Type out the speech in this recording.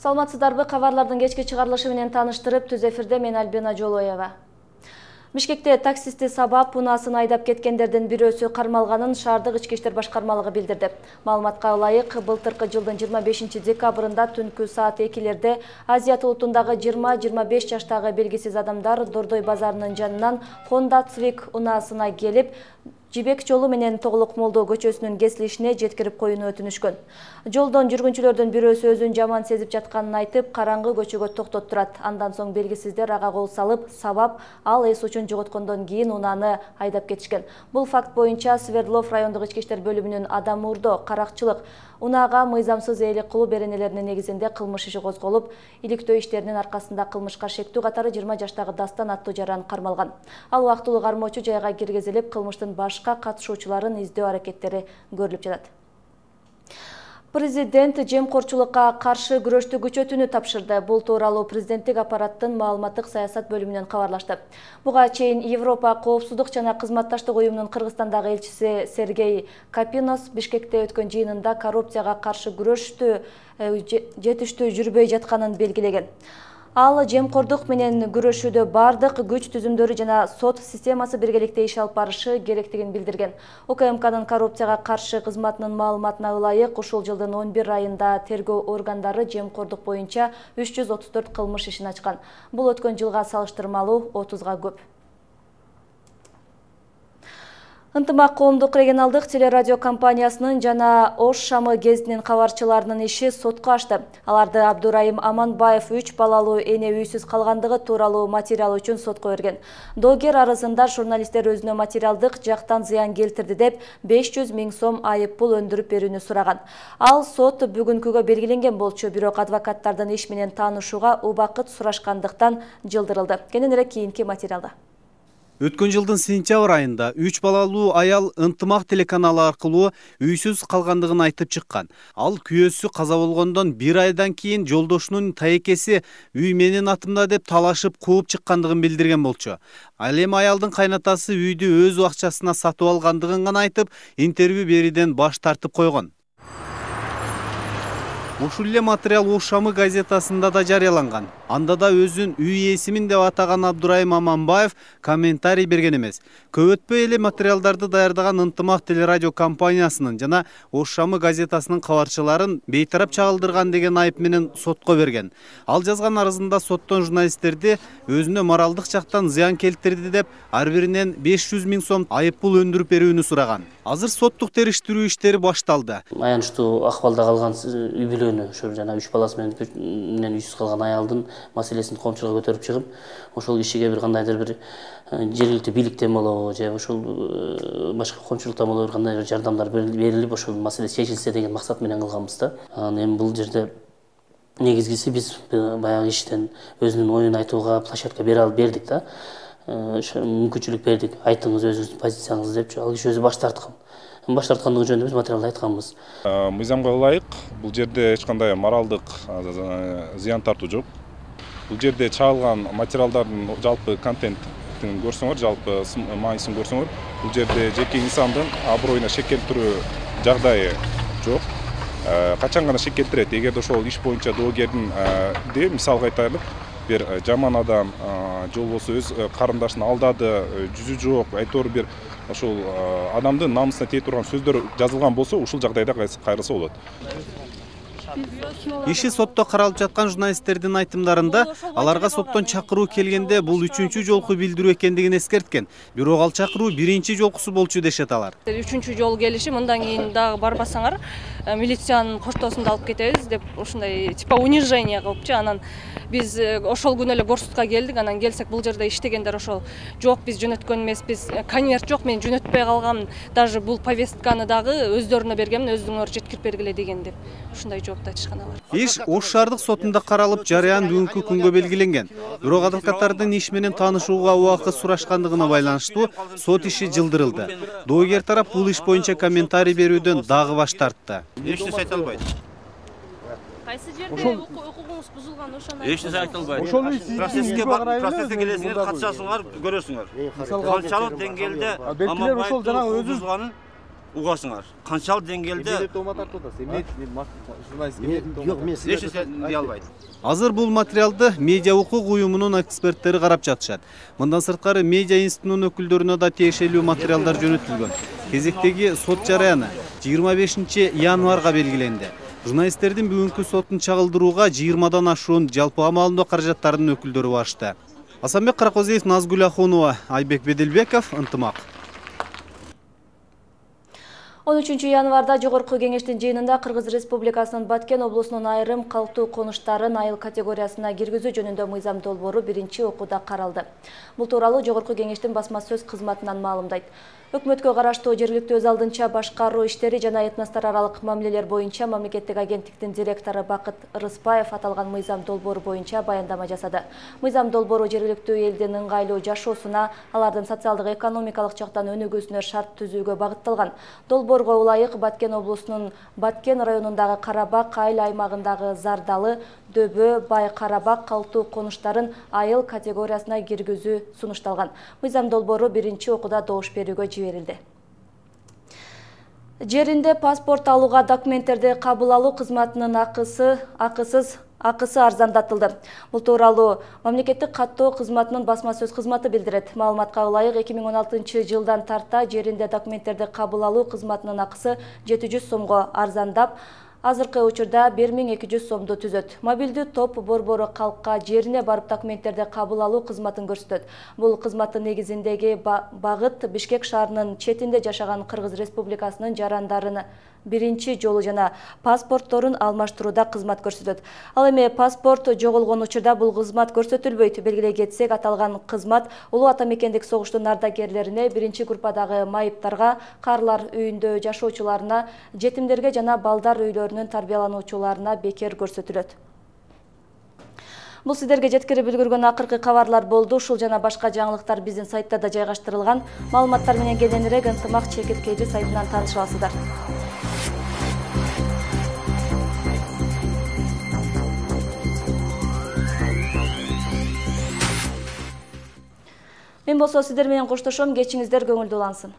Саламатсыздарбы, кабарлардын кечки чыгарылышы менен тааныштырып, түз эфирде мен Альбина Жолоева. Бишкекте таксисти сабап унаасын айдап кеткендердин бирөөсү кармалганын шаардык ички иштер башкармалыгы билдирди. Маалыматка ылайык, былтыркы жылдын 25-декабрында түнкү саат 2-лерде Азият улутундагы 20-25 жаштагы белгисиз адамдар Дордой базарынын жанынан Honda Civic унаасына келип, Жибек жолу менен Тоголок Молдо көчөсүнүн кесилишине жеткирип коюуну өтүнүшкөн. Жолдон жүргүнчүлөрдүн бирөөсү өзүн жаман сезип жатканын айтып, караңгы көчөгө токтоттурат. Андан соң белгисиздер ага кол салып, сабап, ал эс учун жоготкондон кийин унааны айдап кетишкен. Бул факт боюнча Свердлов райондук ички иштер бөлүмүнүн адам уурдоо, каракчылык, унаага мыйзамсыз ээлик кылуу беренелеринин негизинде кылмыш иши козголуп, иликтөө иштеринин аркасында кылмышка шектүү катары 20 жаштагы Дастан аттуу жаран кармалган. Ал убактылуу кармоочу жайга киргизилип, кылмыштын башка катышуучуларын издөө аракеттери көрүлүп жатат. Президент жемкорчулукка каршы күрөштү күчөтүүнү тапшырды. Бул тууралуу президенттик аппараттын маалыматтык саясат бөлүмүнөн кабарлашты. Буга чейин Европа коопсуздук жана кызматташтык уюмунун Кыргызстандагы элчиси Сергей Капинос Бишкекте өткөн жыйынында коррупцияга каршы күрөштү жетиштүү жүрбөй жатканын белгилеген. Ал жемкордук менен күрөшүүдө бардык күч түзүмдөрү жана сот системасы биргеликте иш алып барышы керектигин билдирген. УКМКнын коррупцияга каршы кызматынын маалыматына ылайык, ушул жылдын 11 айында тергөө органдары жемкордук боюнча 334 кылмыш ишин ачкан. Бул өткөн жылга салыштырмалуу 30га көп. Ынтымак коомдук регионалдык телерадио компаниясынын жана Ош Шамы гезитинин кабарчыларынын иши сотко ашты. Аларды Абдурайым Аманбаев 3 балалуу эне үйсүз калгандыгы тууралуу материал үчүн сотко берген. Доогер арызында журналисттер өзүнө материалдык жактан зыян келтирди деп 500 000 сом айып пул өндүрүп берүүнү сураган. Ал сот бүгүнкүгө белгиленген болчу, бирок адвокаттардын иш менен таанышууга убакыт сурашкандыктан жылдырылды. Кененирээк кийинки материалда. Өткөн жылдын сентябрь айында 3 балалуу аял Ынтымак телеканалы аркылуу үйсүз калгандыгын айтып чыккан. Ал күйөөсү каза болгондон 1 айдан кийин жолдошунун таекеси үй менин атымда деп талашып кууп чыккандыгын билдирген болчу. Ал эми аялдын кайнатасы үйдү өз акчасына сатып алгандыгын гана айтып, интервью берүүдөн баш тартып койгон. Ушул эле материал Ош Шамы газетасында да жарыяланган. Анда да өзүн үй ээсимин деп атаган Абдурайым Аманбаев комментарий берген эмес. Көп өтпөй эле материалдарды даярдаган Ынтымак телерадио компаниясынын жана Ош Шамы газетасынын кабарчыларын бейтарап чагылдырган деген айып менен сотко берген. Ал жазган арызында соттон журналисттерди өзүнө моралдык жактан зыян келтирди деп ар биринен 500 000 сом айып пул өндүрүп берүүнү сураган. Азыр соттук териштирүү иштери башталды. Аянычтуу акыбалда калган үй бүлөнү, ошол жана 3 баласы менен үйсүз калган аялдын маселесин коомчулукка көтөрүп чыгып, ошол кишиге бир кандайдыр бир жергиликтүү бийликтен болобу же ошол башка коомчулуктан болобу бир кандайдыр жардамдар берилип, ошол маселе чечилсе деген максат менен кылганбыз да. Эми бул жерде негизгиси биз баягы иштен өзүнүн оюн айтууга площадка бердик да. Мүмкүнчүлүк бердик. Айтыңыз өзүңүздүн позицияңызды деп, ал киши өзү баш тарткан. Баш тарткандыгы жөнүндө биз материалда айтканбыз. Мыйзамга ылайык, бул жерде эч кандай моралдык зыян тартуу жок. Бул жерде чыгарылган материалдардын жалпы контентин көрсөңөр, жалпы маанисин көрсөңөр, бул жерде жеке инсандын аброюна шек келтирүү жагдайы жок. Качан гана шек келтирет, эгерде ошол иш боюнча доогердин мисалга айтайлык, бир жаман адам же болбосо өз карындашын алдады, жүзү жок, айтор бир ошол адамдын намысына тие турган сөздөр жазылган болсо, ушул жагдайда кайрылса болот. Иши сотто каралып жаткан журналисттердин айтымдарында аларга соттон чакыруу келгенде бул 3-чү жолку билдирүү экендигин эскерткен. Бирок ал чакыруу 1-чи жолкусу болчу дешет алар. 3-чү жол келиши, мындан кийин дагы барбасаңар, милициянын поштосунда алып кетебиз деп ушундай типа унижение кылыпчы. Анан биз ошол күнү эле Горсудка келдик. Анан келсек бул жерде иштегендер ошол жок, биз жөнөткөн эмеспиз. Конверт жок, мен жөнөтпөй калгам. Даже бул повестканы дагы өздөрүнө бергенмин, өзүңөр жеткирип бергиле деген деп. Ушундай жооп айтышкан алар. Иш Ош шаардык сотунда каралып, жарыян бүгүнкү күнгө белгиленген. Бирок адвокаттардын иш менен таанышууга убакыт сурашкандыгына байланыштуу сот иши жылдырылды. Доогер тарап бул иш боюнча комментарий берүүдөн дагы баш тартты. Эч нерсе айта албайт. Кайсы жерде укугуңуз бузулган, ошону Эч нерсе айта албайт. Процесске келесиңер, катышасыңар, көрөсүңөр. Ошончалык деңгээлде Аманбаевдин бузулганын угасыңар. Канчалык деңгээлде эч нерсе дей албайт. Азыр бул материалды медиа укук уюмунун эксперттери карап жатышат. Мындан сырткары медиа институтунун өкүлдөрүнө да тиешелүү материалдар жөнөтүлгөн. Кезектеги сот жараяны 25 январга белгиленди. Журналисттердин бүгүнкү сотун чагылдырууга 20дан ашуун жалпы амалдоо каражаттарынын өкүлдөрү башты. Асанбек Каракозиев, Назгүл Ахунова, Айбек Беделбеков, Ынтымак. 13 январда Жогорку кеңештин жыйынында Кыргыз Республикасынын Баткен облусунун айрым калктуу конуштарын айыл категориясына киргизүү жөнүндө мыйзам долбоору биринчи окууда каралды. Бул тууралуу Жогорку кеңештин басма сөз кызматынан маалымдайт. Өкмөткө караштуу жергиликтүү өз алдынча башкаруу иштери жана этностор аралык мамилелер боюнча мамлекеттик агенттиктин директору Бакыт Рыспаев аталган мыйзам долбоору боюнча баяндама жасады. Мыйзам долбоору жергиликтүү элдин ыңгайлуу жашоосуна, алардын социалдык экономикалык жактан өнүгүүсүнө шарт түзүүгө багытталган. Долбоорго ылайык Баткен облусунун Баткен районундагы Карабак айыл аймагындагы Зардалы, Дөбө, Бай Карабак калктуу конуштарын айыл категориясына киргизүү сунушталган. Мыйзам долбоору биринчи окууда добуш берүүгө жиберилди. Жеринде паспорт алууга документтерди кабыл алуу кызматынын акысы арзандатылды. Бул тууралуу мамлекеттик каттоо кызматынын басма сөз кызматы билдирет. Маалыматка ылайык 2016 жылдан тарта жеринде документтерди кабыл алуу кызматынын акысы 700 сомго арзандап, азыркы учурда 1200 сомду түзөт. Мобилдүү топ борбору калкка жерине барып документтерди кабыл алуу кызматын көрсөтөт. Бул кызматтын негизиндеги багыт Бишкек шаарынын четинде жашаган Кыргыз Республикасынын жарандарын биринчи жолу жана паспортторун алмаштырууда кызмат көрсөтөт. Ал эми паспорт жоголгон учурда бул кызмат көрсөтүлбөйт. Белгилей кетсек, аталган кызмат улуу ата мекендик согуштун ардагерлерине, биринчи группадагы майыптарга, карлар үйүндө жашоочуларына, жетимдерге жана балдар үйлөрүнүн тарбиялануучуларына бекер көрсөтүлөт. Бул сиздерге жеткирип үлгүргөн акыркы кабарлар болду. Ушул жана башка жаңылыктар биздин сайтта да жайгаштырылган. Маалыматтар менен кененирээк Ынтымак чекиткейди сайтынан тааныша аласыздар. Мен болсо сиздер менен коштошом. Кечиңиздер көңүлдүү улансын.